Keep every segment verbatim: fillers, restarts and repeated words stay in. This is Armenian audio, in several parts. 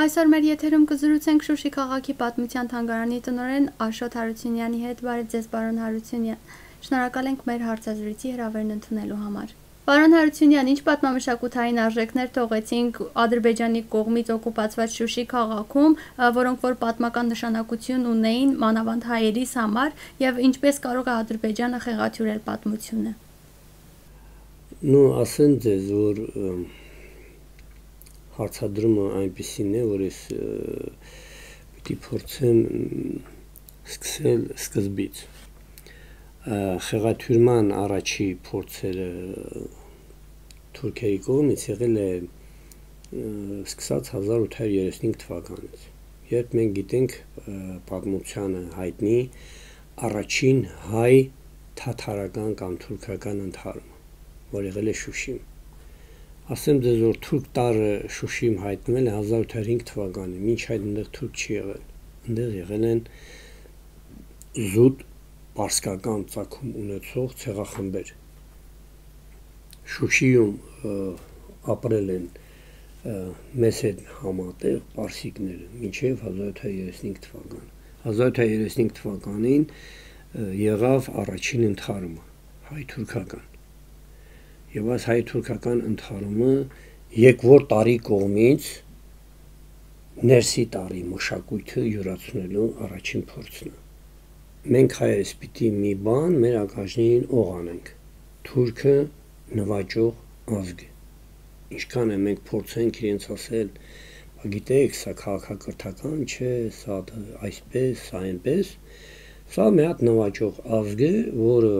Այսօր մեր եթերում կզրուցենք Շուշի քաղաքի պատմության թանգարանի տնօրեն Աշոտ Հարությունյանի հետ։ Բարև ձեզ, պարոն Հարությունյան։ Շնորհակալ ենք մեր հարցազրույցի հրավերն ընդունելու համար։ Պարոն Հարությունյան, ինչ պատմամշակութային արժեքներ թողեցինք Ադրբեջանի կողմից օկուպացված Շուշի քաղաքում, որոնք որ պատմական նշանակություն ունեին մանավանդ հայերիս համար, եւ ինչպես կարող է Ադրբեջանը խեղաթյուրել պատմությունը։ Ну, ասեն ձեզ, որ հարցադրումը այնպեսին է, որ ես պիտի փորձեմ սկսել սկզբից։ Խեղաթյուրման առաջի փորձերը թուրքերի կողմից եղել է սկսած հազար ութ հարյուր երեսունհինգ թվականից, երբ մենք գիտենք պատմությանը հայտնի առաջին հայ թաթարական կամ թուրքական ընդհարումը, որ եղել է Շուշիում։ Ասեմ ձեզ, որ թուրք տարը Շուշիում հայտնվել է հազար ութ հարյուր հինգ թվականին, մինչ այդ այնտեղ թուրք չի եղել։ Այնտեղ եղել են զուտ պարսկական ծագում ունեցող ցեղախմբեր։ Շուշիում ապրել են մեզ հետ համատեղ պարսիկները մինչև հազար ութ հարյուր երեսունհինգ թվականը։ հազար ութ հարյուր երեսունհինգ թվականին եղավ առաջին ընդհարումը հայ-թուրքական։ Եվ այս հայ-թուրքական ընդհարումը եկվոր տարի կողմից ներսի տարի մշակույթը յուրացնելու առաջին փորձն է։ Մենք հայերս պիտի մի բան մեր ականջներին օղ անենք։ Թուրքը նվաճող ազգ է։ Ինչքան է մենք փորձենք իրենց ասել, գիտեք, սա քաղաքակրթական չէ, սա այսպես, սա այնպես, սա մի հատ նվաճող ազգ է, որը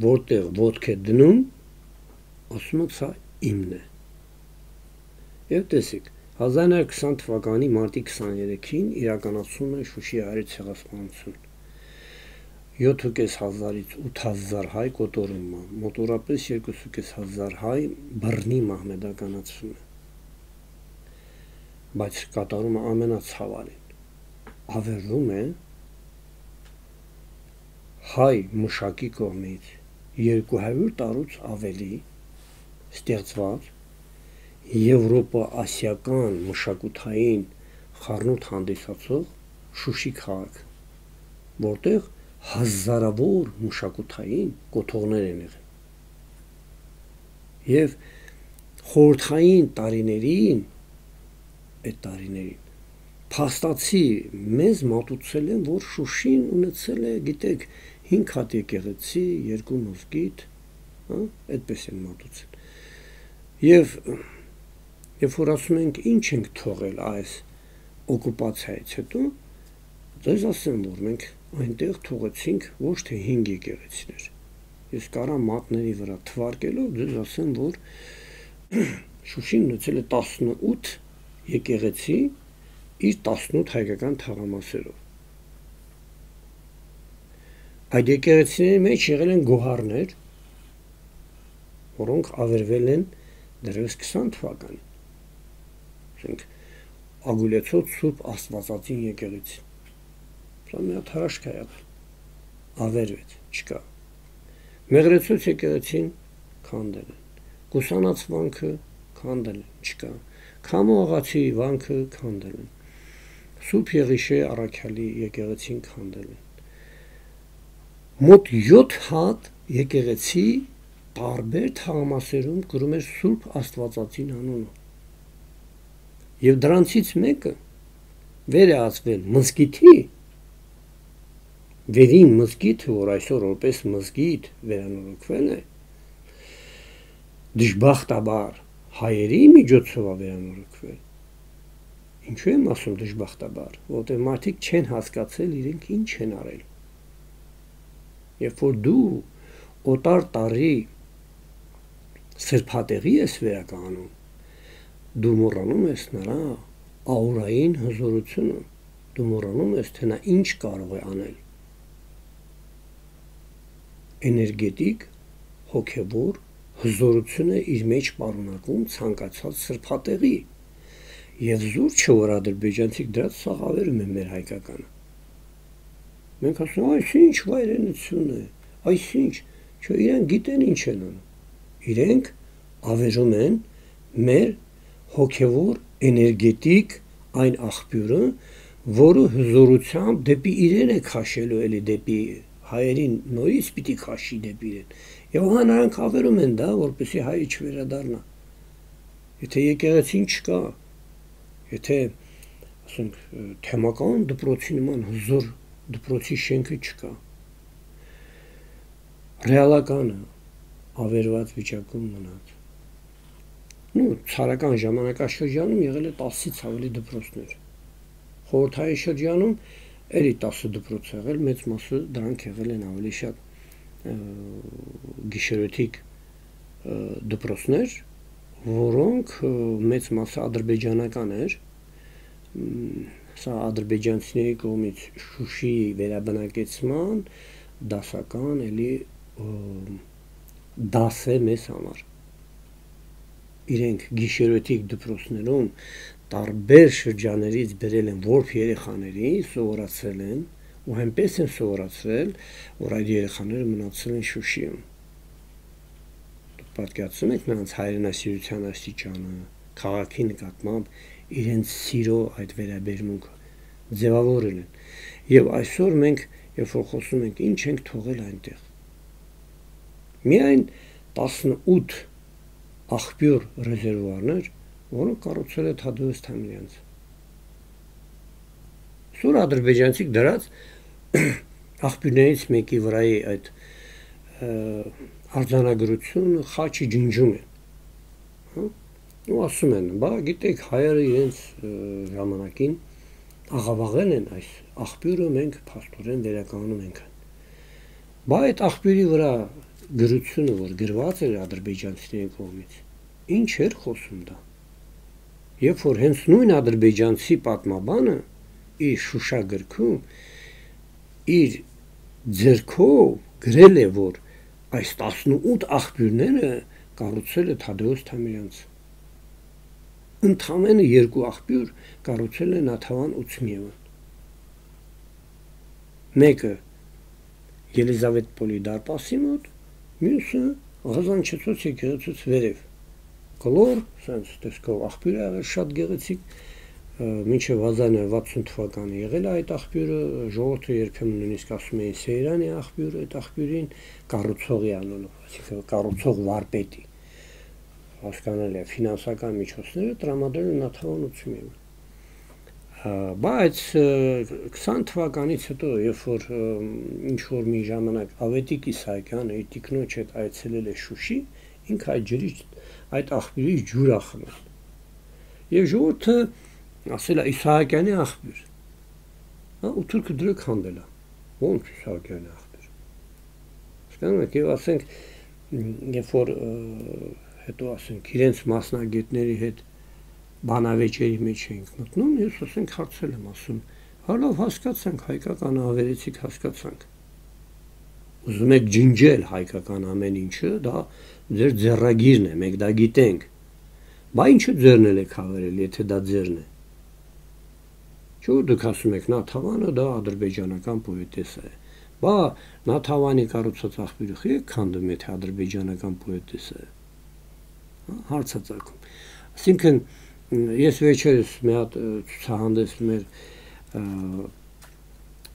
որտեղ ոտք է դնում, ասում է սա իմն է։ Եվ տեսեք, հազար նոյ հարյուր քսան թվականի մարտի քսաներեքին իրականացում է Շուշի հայերի ցեղասպանություն։ յոթ հազարից ութ հազար հայ կոտորում է, մոտորապես երկու հազար հայ բռնի մահմեդականացվում է։ Բայց կատարումը ամենացավալին ավերվում է հայ մշակի կողմից երկու հարյուր տարուց ավելի ստեղծված եվրոպա-ասիական մշակութային խառնուրդ հանդիսացող Շուշի քաղաք, որտեղ հազարավոր մշակութային կոթողներ են եղել։ Եվ խորհրդային տարիներին, այդ տարիներին փաստացի մեզ մատուցել են, որ Շուշին ունեցել է, գիտեք, հինգ հատ եկեղեցի, երկու մզկիթ, այդպես են մատուցել։ Եվ երբ որ ասում ենք ինչ ենք թողել այս օկուպացիայից հետո, ձեզ ասեմ, որ մենք այնտեղ թողեցինք ոչ թե հինգ եկեղեցիներ։ Ես կարամ մատների վրա թվարկելով ձեզ ասեմ, որ Շուշին ունեցել է տասնութ եկեղեցի իր տասնութ հայկական թաղամասերով։ Այդ եկեղեցիների մեջ եղել են գոհարներ, որոնք ավերվել են դեռևս քսան թվականին։ Ասենք Ագուլեցոց Սուրբ Աստվածածին եկեղեցին։ Սա մի հատ հրաշք է եղել։ Ավերվեց, չկա։ Մեղրեցոց եկեղեցին քանդել են։ Կուսանած վանքը քանդել են, չկա։ Քամո աղացի վանքը քանդել են։ Սուրբ Եղիշե առաքյալի եկեղեցին քանդել են։ Մոտ յոթ հատ եկեղեցի տարբեր թաղամասերում կրում էր Սուրբ Աստվածածին անունը։ Եվ դրանցից մեկը վեր է ածվել մզկիթի, վերին մզկիթը, որ այսօր որպես մզկիթ վերանորոգվել է, դժբախտաբար հայերի միջոցով է վերանորոգվել։ Ինչու եմ ասում դժբախտաբար, որտեղ մարդիկ չեն հասկացել իրենք ինչ են արել։ Երբ որ դու օտար տարի սրբատեղի ես վերականգնում, դու մոռանում ես նրա աուրային հզորությունը, դու մոռանում ես, թե նա ինչ կարող է անել։ Էներգետիկ, հոգևոր հզորություն է իր մեջ պարունակում ցանկացած սրբատեղի։ Եվ զուր չէ, որ ադրբեջանցիք դրանց սաղ ավերում են մեր հայկականը։ Մենք ասում ենք, այս ինչ վայրենություն է, այս ինչ, չէ, իրենք գիտեն ինչ են անում։ Իրենք ավերում են մեր հոգևոր էներգետիկ այն աղբյուրը, որը հզորությամբ դեպի իրեն է քաշելու, էլի դեպի հայերին նորից պիտի քաշի դեպի իրեն։ Եվ հա նրանք ավերում են դա, որպեսզի հայը չվերադառնա։ Եթե եկեղեցին չկա, եթե ասենք թեմական դպրոցի նման հզոր դպրոցի շենքը չկա, ռեալականը ավերված վիճակում մնաց։ Ну, ցարական ժամանակաշրջանում եղել է տասից ավելի դպրոցներ։ Խորհրդային շրջանում էլի տասը դպրոց եղել, մեծ մասը դրանք եղել են ավելի շատ գիշերօթիկ դպրոցներ, որոնք մեծ մասը ադրբեջանական էր, սա ադրբեջանցիների կողմից Շուշիի վերաբնակեցման դասական էլի դաս է մեզ համար։ Իրենք գիշերօթիկ դպրոցներում տարբեր շրջաներից բերել են որբ երեխաների, սովորացրել են, ու այնպես են սովորացրել, որ այդ երեխաները մնացել են Շուշիում։ Պատկերացնում եք նրանց հայրենասիրության աստիճանը, քաղաքի նկատմամբ իրենց սիրո այդ վերաբերմունքը ձևավորել են։ Եվ այսօր մենք, երբ որ խոսում ենք, ինչ ենք թողել այնտեղ։ Միայն տասնութ աղբյուր ռեզերվուարներ, որոնք կառուցել է Թադևոս Թամիրյանցը։ Սուր ադրբեջանցիք դրած աղբյուրներից մեկի վրայի այդ արձանագրությունը խաչի ջնջում են։ Ու ասում են, բա գիտեք, հայերը իրենց ժամանակին աղավաղել են այս աղբյուրը, մենք փաստորեն վերականգնում ենք։ Բա այդ աղբյուրի վրա գրությունը, որ գրված էր ադրբեջանցիների կողմից, ինչ էր խոսում դա։ Երբ որ հենց նույն ադրբեջանցի պատմաբանը իր Շուշա գրքում իր ձեռքով գրել է, որ այս տասնութ աղբյուրները կառուցել է Թադևոս Թամիրյանցը։ Ընդամենը երկու աղբյուր կառուցել է Նաթավան Ուցմիևը։ Մեկը Ելիզավետպոլի դարպասի մոտ, մյուսը Ղազանչեցոց եկեղեցուց վերև։ Կլոր, սենց տեսքով աղբյուր է եղել շատ գեղեցիկ, մինչև հազար վաթսուն թվականը եղել է այդ աղբյուրը, ժողովուրդը երբեմն նույնիսկ ասում էին Սեյրանի աղբյուրը, այդ աղբյուրին կառուցողի անունով, այսինքն կառուցող վարպետի։ Հասկանալի է, ֆինանսական միջոցները տրամադրել են Նաթավան Ուցմիևը։ Բայց քսան թվականից հետո, երբ որ ինչ որ մի ժամանակ Ավետիք Իսահակյանը իր տիկնոջ հետ այցելել է Շուշի, ինքը այդ ջրի այդ աղբյուրից ջուր ա խմել։ Եվ ժողովուրդը ասել է Իսահակյանի աղբյուր։ Հա, ու թուրքը դրը քանդել է։ Ոնց Իսահակյանի աղբյուր։ Հասկանում եք, եւ ասենք, երբ որ հետո ասենք իրենց մասնագետների հետ բանավեճերի մեջ էինք մտնում, ես ասենք հարցել եմ ասում, հա լավ հասկացանք, հայկական ավերեցիք հասկացանք։ Ուզում եք ջնջել հայկական ամեն ինչը, դա ձեր ձեռագիրն է, մենք դա գիտենք։ Բա ինչու ձեռնել եք հավերել, եթե դա ձեռն է։ Չէ՞ դուք ասում եք Նաթավանը դա ադրբեջանական պոետեսա է։ Բա Նաթավանի կառուցած աղբյուրը խի եք քանդում, եթե ադրբեջանական պոետեսա է։ Հարցածագում։ Այսինքն ես վերջերս մի հատ ցուցահանդես մեր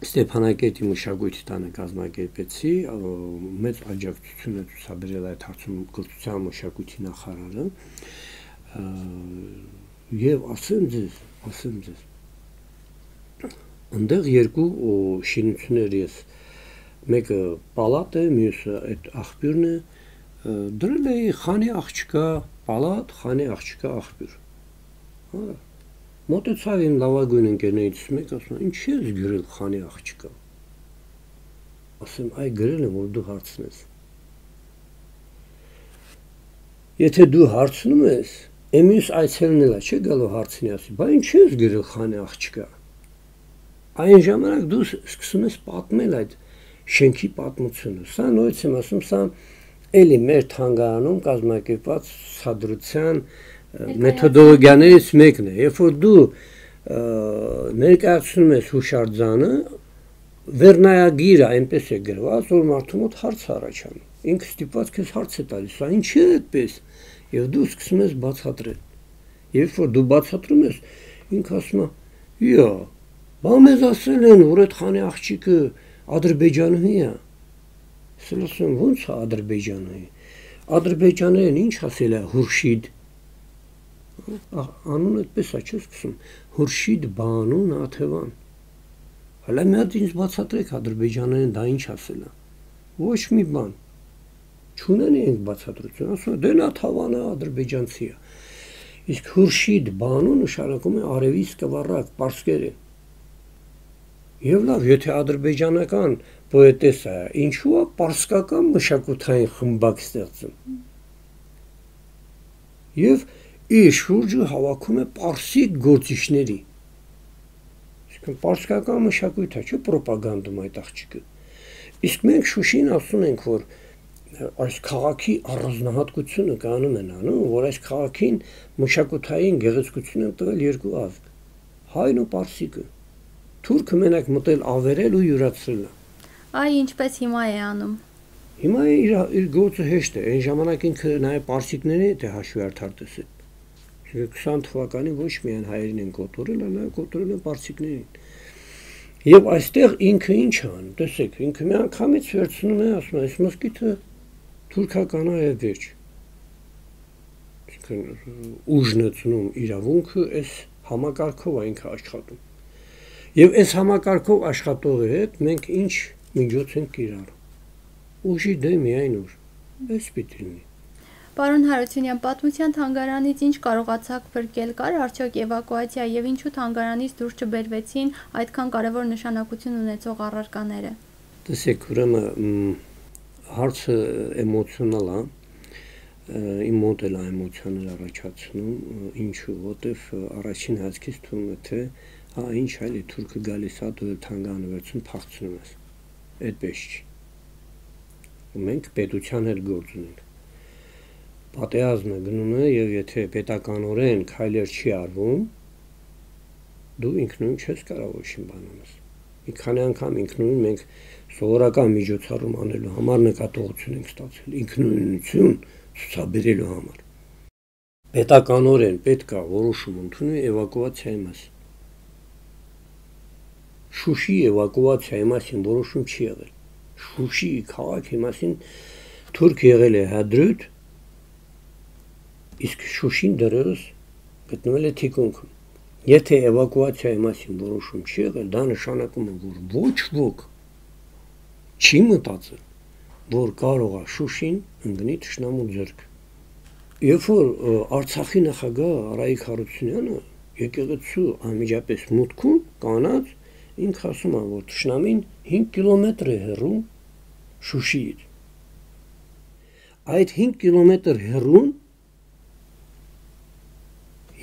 Ստեփանակերտի մշակույթի տանը կազմակերպեցի, մեծ աջակցություն է ցուցաբերել այդ հարցում կրթության մշակույթի նախարարը, եւ ասեմ ձեզ, ասեմ ձեզ, այնտեղ երկու շինություններ ես, մեկը պալատ է, մյուսը այդ աղբյուրն է, դրել էի Խանի աղջկա պալատ, Խանի աղջկա աղբյուր։ Մոտեցավ իմ լավագույն ընկերներից մեկ, ասում ինչ ես գրել Խանի աղջկա։ Ասեմ, այ գրել եմ, որ դու հարցնես։ Եթե դու հարցնում ես, εμείς այցելնել է, չէ՞ գալու հարցնի, ասի, բա ինչ ես գրել Խանի աղջկա։ Այն ժամանակ դու սկսում ես պատմել այդ շենքի պատմությունը։ Սա նույնց եմ ասում, սա էլի մեր թանգարանում կազմակերպված ցուցադրության մեթոդոլոգիաներից մեկն է, երբ որ դու ներկայացնում ես հուշարձանը, վերնայագիրը այնպես է գրված, որ մարդու մոտ հարց առաջանում։ Ինքը ստիպված քեզ հարց է տալիս, սա ինչի է այդպես, եւ դու սկսում ես բացատրել։ Երբ որ դու բացատրում ես, ինքը ասում է, «Յա, բա մեզ ասել են, որ այդ խանի աղջիկը ադրբեջանուհի է»։ Ես ասում եմ, ո՞նց է ադրբեջանուհի։ Ադրբեջաներեն ինչ ասել է Հուրշիդ։ Անուն այդպես է չէ՞ սկսում։ Հուրշիդ Բանու Նաթևան։ Հələ մի հատ ինձ բացատրեք ադրբեջաներեն դա ինչ ասել է։ Ոչ մի բան։ Չունեն իրենք բացատրություն, ասում են դե Նաթավանը ադրբեջանցի է։ Իսկ Հուրշիդ Բանու նշանակում է արևի սկվառակ, պարսկերեն։ Եվ լավ, եթե ադրբեջանական պոետեսա է, ինչու է պարսկական մշակութային խմբակ ստեղծում։ Եվ իր շուրջը հավաքում է պարսիկ գործիչների։ Իսկ պարսկական մշակույթը չէ պրոպագանդում այդ աղջիկը։ Իսկ մենք Շուշին ասում ենք, որ այս քաղաքի առանձնահատկությունը կանում են անում, որ այս քաղաքին մշակութային գեղեցկություն են տվել երկու ազգ՝ հայն ու պարսիկը։ Թուրքը մենակ մտել ավերել ու յուրացրել է։ Այ ինչպես հիմա է անում։ Հիմա իր իր գործը հեշտ է, այն ժամանակ ինքը նաև պարսիկների հետ է հաշվի արդար տեսել։ քսան թվականին ոչ միայն հայերին են կոտորել, այլ կոտորել են պարսիկներին։ Եվ այստեղ ինքը ինչ է անում, տեսեք, ինքը մի անգամից վերցնում է, ասում է, այս մոսկիթը թուրքական է եւ վերջ։ Ուժն է ծնում իրավունքը, այս համակարգով է ինքը աշխատում։ Եվ այս համակարգով աշխատողի հետ մենք ինչ միջոց ենք կիրառում։ Ուժի դեմ միայն ուժ։ Այս պիտի լինի։ Պարոն Հարությունյան, պատմության թանգարանից ինչ կարողացաք փրկել, կար արդյոք էվակուացիա եւ ինչու թանգարանից դուրս չբերվեցին այդքան կարևոր նշանակություն ունեցող առարկաները։ Տեսեք, ուրեմն հարցը էմոցիոնալ է, իմ մոտ էլ էմոցիաներ առաջացնում, ինչու, որտեվ առաջին հազքից թվում է թե հա ինչ այլ է թուրքը գալիս է դու թանգարանը վերցնում փախցնում ես։ Այդպես չի։ Մենք պետության հետ գործ ունենք։ Պատերազմը գնում է եւ եթե պետականորեն քայլեր չի արվում, դու ինքնուրույն չես կարող ոչինչ բան անես։ Մի քանի անգամ ինքնուրույն մենք սովորական միջոցառում անելու համար նկատողություն ենք ստացել, ինքնուրույնություն ցուցաբերելու համար։ Պետականորեն պետք է որոշում ընդունել էվակուացիայի մասին։ Շուշի էվակուացիայի մասին որոշում չի եղել։ Շուշի քաղաքի մասին թուրք եղել է Հադրութ, իսկ Շուշին դեռևս գտնվել է թիկունքում։ Եթե էվակուացիայի մասին որոշում չի եղել, դա նշանակում է, որ ոչ ոք չի մտածել, որ կարող է Շուշին ընկնի թշնամու ձեռքը։ Երբ որ Արցախի նախագահ Արայիկ Հարությունյանը եկեղեցու անմիջապես մուտքում կանած, ինքը ասում է, որ թշնամին հինգ կիլոմետր է հեռու Շուշիից։ Այդ հինգ կիլոմետր հեռուն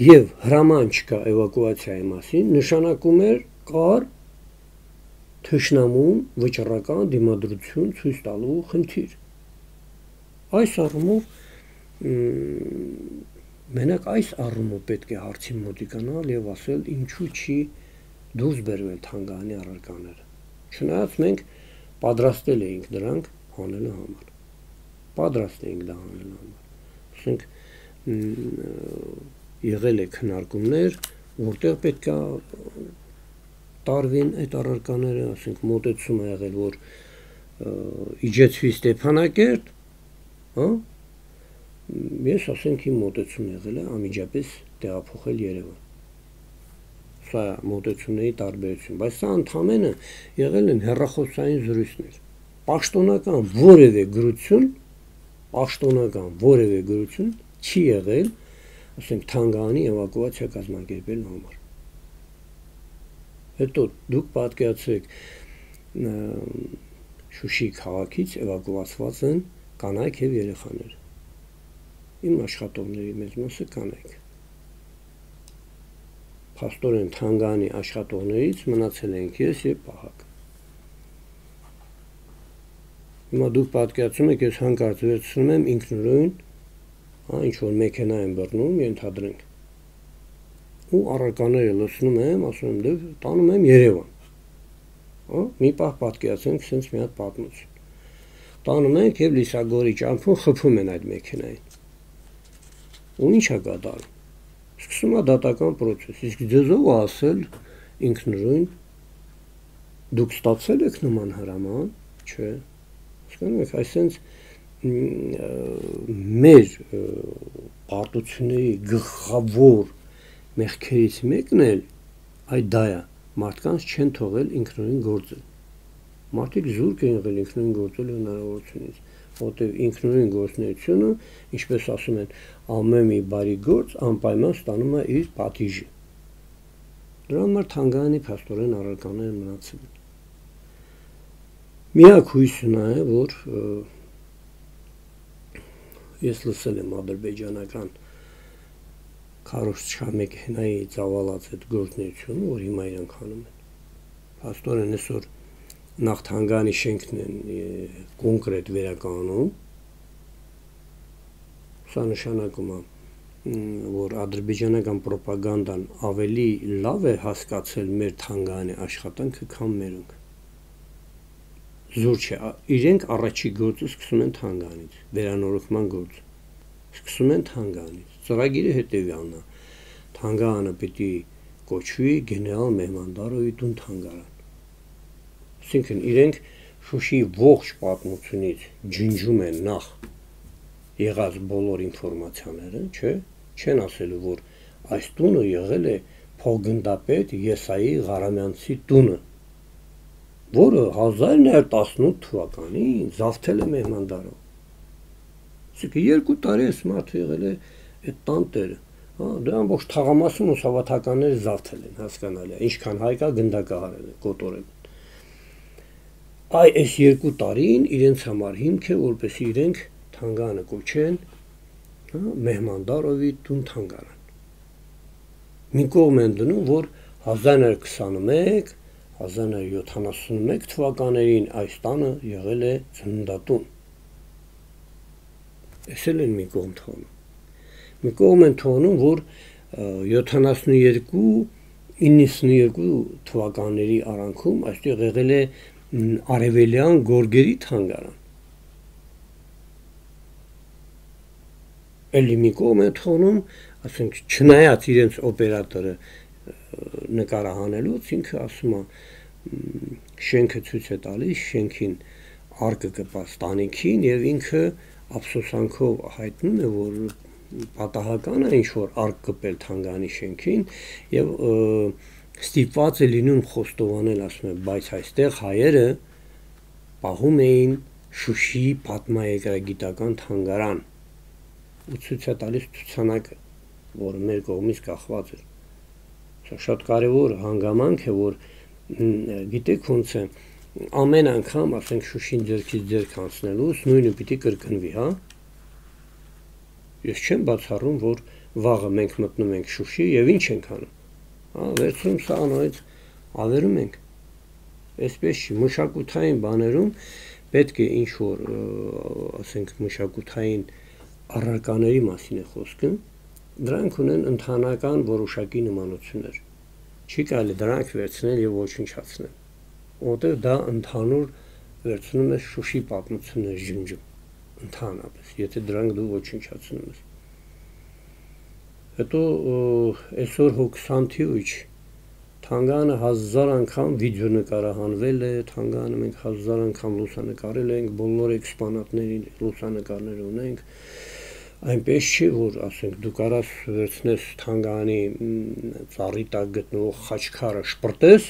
եւ հրաման չկա էվակուացիայի մասին, նշանակում էր կար թշնամուն վճռական դիմադրություն ցույց տալու խնդիր։ Այս առումով մենակ այս առումով պետք է հարցին մոտիկանալ եւ ասել ինչու չի դուրս բերվել թանգարանի առարկաները։ Չնայած մենք պատրաստել էինք դրանք անելու համար։ Պատրաստ էինք դա անելու համար։ Ասենք եղել է քննարկումներ, որտեղ պետք է տարվին այդ առարկաները, ասենք մոտեցում է եղել, որ իջեցվի Ստեփանակերտ, հա։ Ես ասենք իմ մոտեցում եղել է անմիջապես տեղափոխել Երևան։ Սա մոտեցումների տարբերություն, բայց սա ընդհանրապես եղել են հեռախոսային զրույցներ։ Պաշտոնական որևէ գրություն, պաշտոնական որևէ գրություն չի եղել, ասենք թանգարանի էվակուացիա կազմակերպելու համար։ Հետո դուք պատկերացրեք Շուշի քաղաքից էվակուացված են կանայք եւ երեխաներ։ Իմ աշխատողների մեծ մասը կանայք։ Փաստորեն թանգարանի աշխատողներից մնացել ենք ես եւ Պահակ։ Հիմա դուք պատկերացնում եք, ես հանկարծ վերցնում եմ ինքնուրույն, հա, ինչ որ մեքենա եմ բռնում, ենթադրենք։ Ու առարկաները լցնում եմ, ասում եմ, դե տանում եմ Երևան։ Հա, մի պահ պատկերացնենք, sense մի հատ պատմություն։ Տանում ենք եւ Լիսագորի ճամփուն խփում են այդ մեքենային։ Ու ի՞նչ է կատարում։ Սկսում է դատական process, իսկ ձեզով ասել ինքնուրույն դուք ստացել եք նման հրաման, չէ։ Հասկանում եք, այսինքն մեր պարտությունների գլխավոր մեղքերից մեկն էլ այդ դա է, մարդկանց չեն թողել ինքնուրույն գործել։ Մարդիկ զուրկ են եղել ինքնուրույն գործելու հնարավորությունից, որտեղ ինքնուրույն գործունեությունը, ինչպես ասում են, ամեն մի բարի գործ անպայման ստանում է իր պատիժը։ Դրա համար թանգարանի փաստորեն առարկաները մնացել են։ Միակ հույսը նա է, որ ես լսել եմ ադրբեջանական քարոզչամեքենայի ծավալած այդ գործունեությունը, որ հիմա իրանք անում են։ Փաստորեն այսօր նախ թանգարանի շենքն են կոնկրետ վերականգնում, սա նշանակում է, որ ադրբեջանական պրոպագանդան ավելի լավ է հասկացել մեր թանգարանի աշխատանքը, քան մերոնք։ Զուր չէ, իրենք առաջի գործը սկսում են թանգարանից, վերանորոգման գործը սկսում են թանգարանից։ Ծրագիրը հետևյալն է, թանգարանը պիտի կոչվի գեներալ Մեհմանդարովի տուն թանգարան։ Այսինքն իրենք Շուշիի ողջ պատմությունից ջնջում են նախ եղած բոլոր ինֆորմացիաները, չէ, չեն ասելու, որ այս տունը եղել է փոխգնդապետ Եսայի Ղարամյանցի տունը, որը հազար նոյ տասնութ թվականին զավթել է Մեհմանդարով։ Այսինքն երկու տարի այս մարդը եղել է այդ տան տերը, հա, դրա ամբողջ թաղամասում ու սավաթականները զավթել են, հասկանալի է, ինչքան հայկա գնդակահարել է, կոտորել։ Այ այս երկու տարին իրենց համար հիմք է, որպեսզի իրենք թանգարանը կոչեն, հա, Մեհմանդարովի տուն թանգարան։ Մի կողմ են դնում, որ հազար նոյ քսանմեկ հազար նոյ յոթանասունմեկ թվականներին այս տանը եղել է ծննդատուն։ Էս էլ են մի կողմ թողնում։ Մի կողմ են թողնում, որ յոթանասունյոթ իննսունյոթ թվականների արանքում այստեղ եղել է արևելյան գորգերի թանգարան։ Էլի մի կողմ են թողնում, ասենք չնայած իրենց օպերատորը նկարահանելուց ինքը ասում է շենքը ցույց է տալիս, շենքին արկը կպած տանիքին եւ ինքը ափսոսանքով հայտնում է, որ պատահական է ինչ որ արկ կպել թանգարանի շենքին եւ ստիպված է լինում խոստովանել, ասում է, բայց այստեղ հայերը պահում էին Շուշիի պատմաերգրագիտական թանգարան ու ցույց է տալիս ցուցանակը, որը մեր կողմից կախված էր։ Սա շատ կարևոր հանգամանք է, որ գիտեք ոնց է, ամեն անգամ, ասենք Շուշին ձեռքից ձեռք անցնելուց նույնը պիտի կրկնվի, հա։ Ես չեմ բացառում, որ վաղը մենք մտնում ենք Շուշի եւ ինչ ենք անում։ Հա, վերցնում սա անորից ավերում ենք։ Այսպես չի, մշակութային բաներում պետք է ինչ որ, ասենք, մշակութային առարկաների մասին է խոսքը, դրանք ունեն ընդհանրական որոշակի նմանություններ։ Չի կարելի դրանք վերցնել եւ ոչնչացնել, որտեղ դա ընդհանուր վերցնում է Շուշի պատմություններ ջնջում, ընդհանրապես, եթե դրանք դու ոչնչացնում ես։ Հետո այսօր հոգսանթիուչ թանգարանը հազար անգամ վիդեո նկարահանվել է, թանգարանը մենք հազար անգամ լուսանկարել ենք, բոլոր էքսպոնատներին լուսանկարներ ունենք, այնպես չի, որ ասենք դու կարաս վերցնես թանգարանի ծառի տակ գտնվող խաչքարը շպրտես,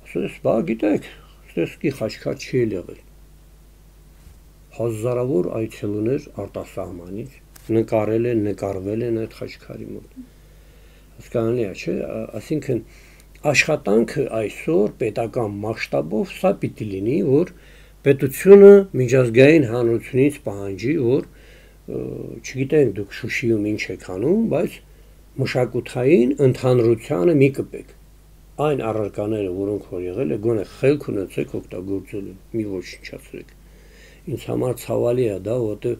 ասես, բա գիտեք, ստեսկի խաչքար չի եղել։ Հազարավոր այցելուներ արտասահմանից նկարել են, նկարվել են այդ խաչքարի մոտ։ Հասկանալի է, չէ՞, այսինքն աշխատանքը այսօր պետական մասշտաբով սա պիտի լինի, որ պետությունը միջազգային հանրությունից պահանջի, որ չգիտենք դուք Շուշիում ինչ եք անում, բայց մշակութային ընդհանրությանը մի կպեք։ Այն առարկաները, որոնք որ եղել է, գոնե խելք ունեցեք օգտագործելու, մի ոչնչացրեք։ Ինձ համար ցավալի է դա, որտեղ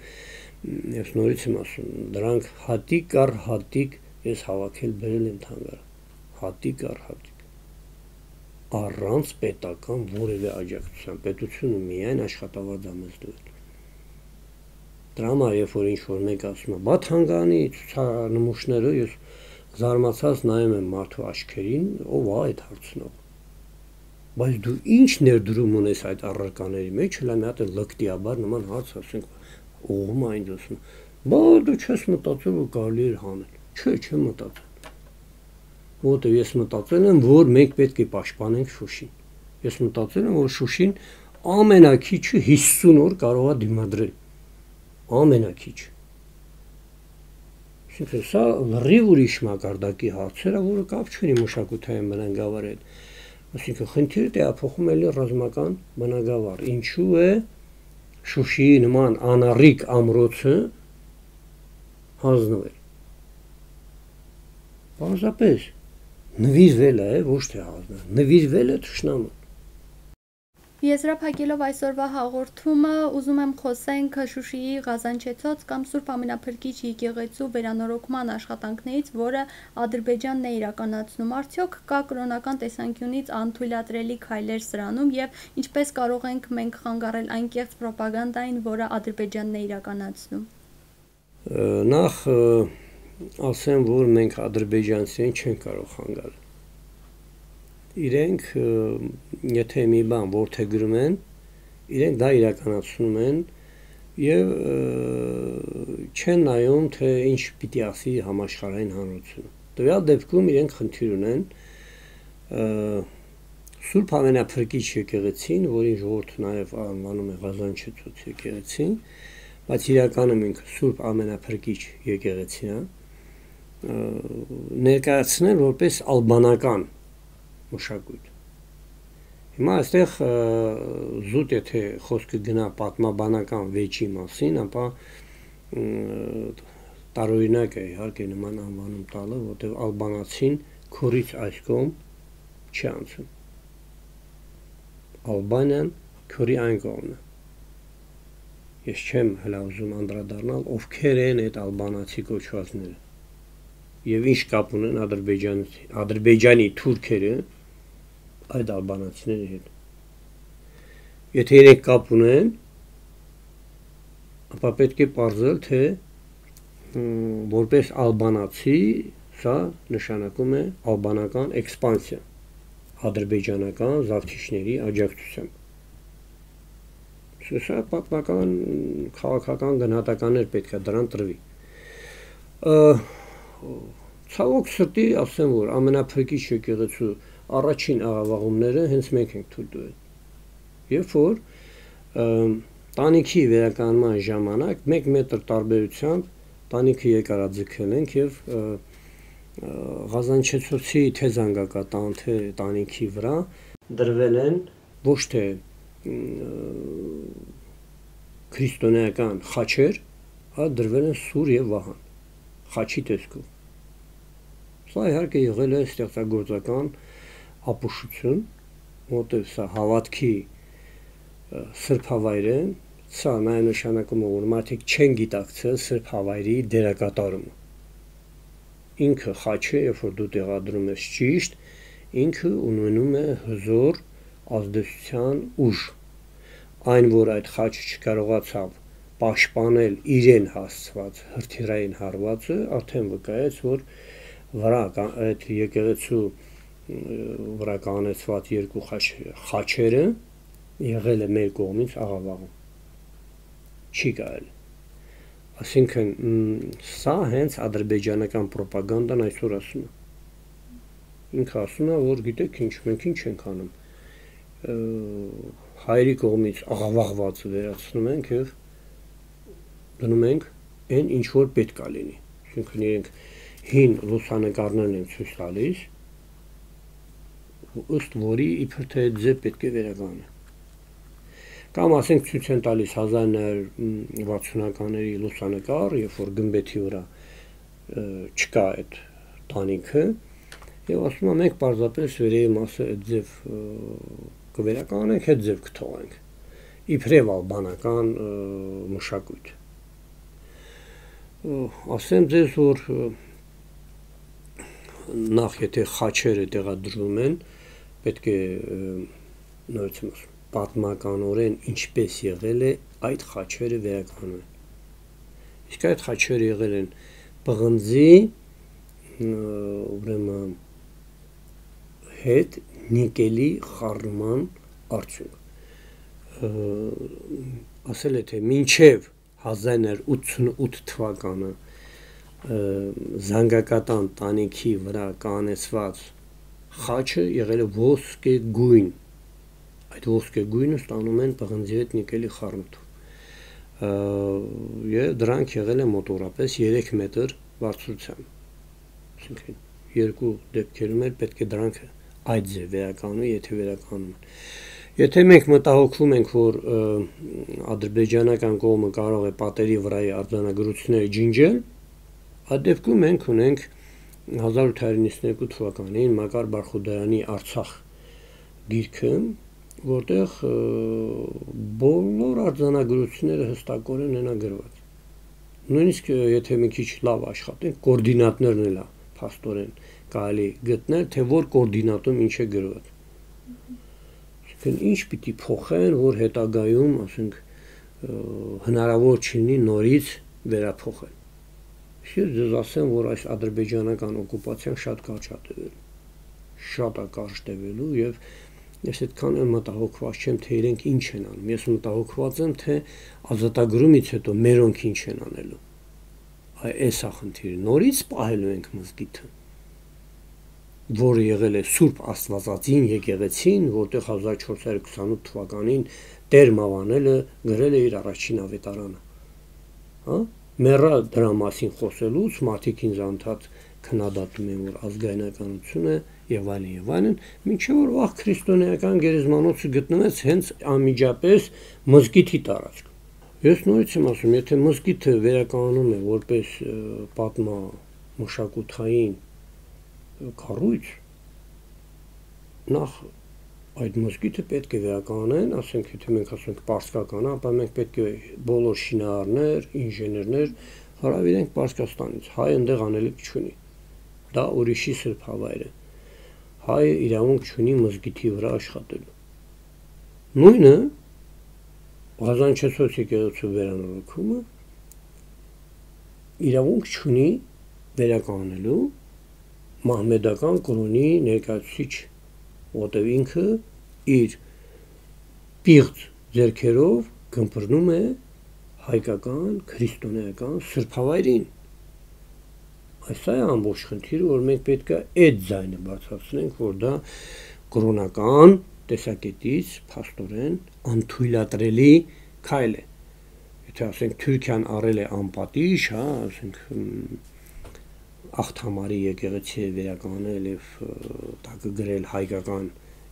ես նորից եմ ասում, դրանք հատիկ առ հատիկ ես հավաքել բերել եմ թանգարան, հատիկ առ հատիկ, առանց պետական որևէ աջակցության, պետությունը միայն աշխատավարձ է մեզ տվել։ Դրա համար երբ որ ինչ որ մեկ ասում է, բա թանգարանի ցուցանմուշները, ես զարմացած նայում եմ մարդու աչքերին, ով է այդ հարցնող։ Բայց դու ինչ ներդրում ունես այդ առարկաների մեջ, հələ մի հատ լկտիաբար նման հարց ասենք, ուղղում այն դասում։ Բա դու չես մտածել, որ կարելի էր հանել։ Չէ, չեմ մտածել։ Որտեղ ես մտածել եմ, որ մենք պետք է պաշտպանենք Շուշին։ Ես մտածել եմ, որ Շուշին ամենակիչը հիսուն օր կարող է դիմադրել։ Ամենակիչ։ Այսինքն սա լրիվ ուրիշ մակարդակի հարցեր է, որը կապ չունի մշակութային բնագավառի հետ։ Այսինքն խնդիրը տեղափոխում է ռազմական բնագավառ։ Ինչու է Շուշիի նման անառիկ ամրոցը հանձնվել։ Պարզապես նվիրվել է, ոչ թե հանձնել, նվիրվել է թշնամուն։ Եզրափակելով այսօրվա հաղորդումը, ուզում եմ խոսենք Շուշիի Ղազանչեցոց կամ Սուրբ Ամենափրկիչ եկեղեցու վերանորոգման աշխատանքներից, որը Ադրբեջանն է իրականացնում։ Արդյոք կա կրոնական տեսանկյունից անթույլատրելի քայլեր սրանում եւ ինչպես կարող ենք մենք խանգարել այն կեղծ ռոպագանդային, որը Ադրբեջանն է իրականացնում։ Նախ ասեմ, որ մենք ադրբեջանցիներին չենք կարող խանգարել։ Իրենք, եթե մի բան որդեգրում են, իրենք դա իրականացնում են եւ չեն նայում, թե ինչ պիտի ասի համաշխարհային հանրությունը։ Տվյալ դեպքում իրենք խնդիր ունեն Սուրբ Ամենափրկիչ եկեղեցին, որին ժողովուրդը նաեւ անվանում է Ղազանչեցոց եկեղեցին, բայց իրականում ինքը Սուրբ Ամենափրկիչ եկեղեցին է, ներկայացնել որպես ալբանական մշակույթ։ Հիմա այստեղ զուտ եթե խոսքը գնա պատմաբանական վեճի մասին, ապա տարօրինակ է իհարկե նման անվանում տալը, որտեղ ալբանացին քորից այս կողմ չի անցում։ Ալբանիան քորի այն կողմն է։ Ես չեմ հլա ուզում անդրադառնալ, ովքեր են այդ ալբանացի կոչվածները եւ ինչ կապ ունեն Ադրբեջանի Ադրբեջանի թուրքերը այդ ալբանացիների հետ։ Եթե իրենք կապ ունեն, ապա պետք է պարզել, թե որպես ալբանացի սա նշանակում է ալբանական էքսպանսիա ադրբեջանական զավթիչների աջակցությամբ։ Սա պատմական քաղաքական գնահատականներ պետք է դրան տրվի։ Ցավոք սրտի ասեմ, որ ամենափրկիչ եկեղեցու առաջին աղավաղումները հենց մենք ենք թույլ տվել։ Երբ որ տանիքի վերականգնման ժամանակ մեկ մետր տարբերությամբ տանիքը երկարաձգել ենք եւ Ղազանչեցոցի թե զանգակատան, թե տանիքի վրա դրվել են ոչ թե քրիստոնեական խաչեր, այլ դրվել են սուր եւ վահան խաչի տեսքով։ Սա իհարկե եղել է ստեղծագործական ապուշություն, որտեղ սա հավատքի սրբ հավայր է, սա նաեւ նշանակում է, որ մարդիկ չեն գիտակցել սրբ հավայրի դերակատարումը։ Ինքը խաչը, երբ որ դու տեղադրում ես ճիշտ, ինքը ունենում է հզոր ազդեցության ուժ։ Այն, որ այդ խաչը չկարողացավ պաշտպանել իրեն հասցված հրթիռային հարվածը, արդեն վկայեց, որ վրա այդ եկեղեցու վրա կանեցված երկու խաչերը եղել է մեր կողմից աղավաղում։ Չի կարելի։ Այսինքն սա հենց ադրբեջանական ռոպագանդան այսօր ասում է։ Ինքը ասում է, որ գիտեք ինչ, մենք ինչ ենք անում։ Հայերի կողմից աղավաղվածը վերացնում ենք եւ դնում ենք այն ինչ որ պետք է լինի։ Այսինքն իրենք հին լուսանկարներն են ցույց տալիս, ըստ որի իբր թե ձև պետք է վերականգնի։ Կամ ասենք ցույց են տալիս հազար նոյ վաթսունականների լուսանկար, երբ որ գմբեթի վրա չկա այդ տանիքը, եւ ասում են մենք պարզապես վերևի մասը այդ ձև կվերականգնենք, այդ ձև կթողենք։ Իբրև ալբանական մշակույթ։ Ասեմ ձեզ, որ նախ եթե խաչերը տեղադրվում են, պետք է նորից ասում պատմականորեն ինչպես եղել է այդ խաչերը վերականգնվել։ Իսկ այդ խաչերը եղել են պղնձի, ուրեմն հետ նիկելի խառնման արդյունք։ Ասել է թե մինչև հազար իննսուն ութսունութ թվականը զանգակատան տանիքի վրա կանեցված խաչը եղել է ոսկե գույն, այդ ոսկե գույնը ստանում են պղնձի հետ նիկելի խառնուրդով, եւ դրանք եղել է մոտորապես երեք մետր բարձրությամբ, այսինքն երկու դեպքերում էլ պետք է դրանք այդ ձև վերականգնվի, եթե վերականգնում են։ Եթե մենք մտահոգվում ենք, որ ադրբեջանական կողմը կարող է պատերի վրայի արձանագրությունները ջնջել, այդ դեպքում մենք ունենք հազար ութ հարյուր նիվսներկու թվականին Մակար Բարխուդարյանի Արցախ գիրքը, որտեղ բոլոր արձանագրությունները հստակորեն են գրված։ Նույնիսկ եթե մի քիչ լավ աշխատենք, կոորդինատներն էլ փաստորեն կարելի գտնել, թե որ կոորդինատում ինչ է գրված։ Ինչ պիտի փոխեն, որ հետագայում, ասենք, հնարավոր չլինի նորից վերափոխել։ Ես ձեզ ասեմ, որ այս ադրբեջանական օկուպացիան շատ կարճ է տևելու, շատ է կարճ տևելու, եւ ես այդքան էլ մտահոգված չեմ, թե իրենք ինչ են անում։ Ես մտահոգված եմ, թե ազատագրումից հետո մերոնք ինչ են անելու։ Այս է խնդիրը։ Նորից պահելու ենք մզկիթը, որը եղել է Սուրբ Աստվածածին եկեղեցին, որտեղ հազար չորս հարյուր քսանութ թվականին Տեր Մավանելը գրել է իր առաջին ավետարանը։ Հա? Մեռա դրա մասին խոսելուց մարդիկ ինձ անդադ քննադատում են, որ ազգայնականությունը եւ այլն եւ այլն, մինչեւ որ վաղ քրիստոնեական գերեզմանոցը գտնվեց հենց անմիջապես մզկիթի տարածքում։ Ես նորից եմ ասում, եթե մզկիթը վերականգնում է որպես պատմա մշակութային կառույց, նախ այդ մզկիթը պետք է վերականգնեն, ասենք, եթե մենք ասենք պարսկական, ապա մենք պետք է բոլոր շինարարներ, ինժեներներ հարավիրենք Պարսկաստանից, հայ այնտեղ անելիք չունի, դա ուրիշի սրբ հավայր է, հայը իրավունք չունի մզկիթի վրա աշխատելու։ Նույնը Ղազանչեցոց եկեղեցու վերանորոգումը իրավունք չունի վերականգնելու մահմեդական կրոնի ներկայացուցիչ, որտեղ ինքը իր պիղծ ձեռքերով գմբռնում է հայկական, քրիստոնեական սրբավայրին։ Այս է ամբողջ խնդիրը, որ մենք պետք է այդ ձայնը բարձրացնենք, որ դա կրոնական տեսակետից փաստորեն անթույլատրելի քայլ է։ Եթե ասենք Թուրքիան առել է անպատիժ, հա, ասենք Ախթամարի եկեղեցի է վերականգնել եւ տակը գրել հայկական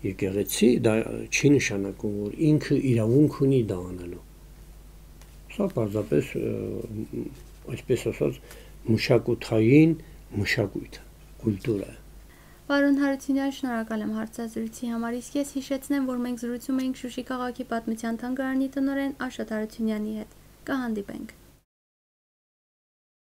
եկեղեցի, դա չի նշանակում, որ ինքը իրավունք ունի դա անելու։ Սա պարզապես, այսպես ասած, մշակութային մշակույթ է, կուլտուրա է։ Պարոն Հարությունյան, շնորհակալ եմ հարցազրույցի համար, իսկ ես հիշեցնեմ, որ մենք զրուցում էինք Շուշի քաղաքի պատմության թանգարանի տնօրեն Աշոտ Հարությունյանի հետ։ Կհանդիպենք։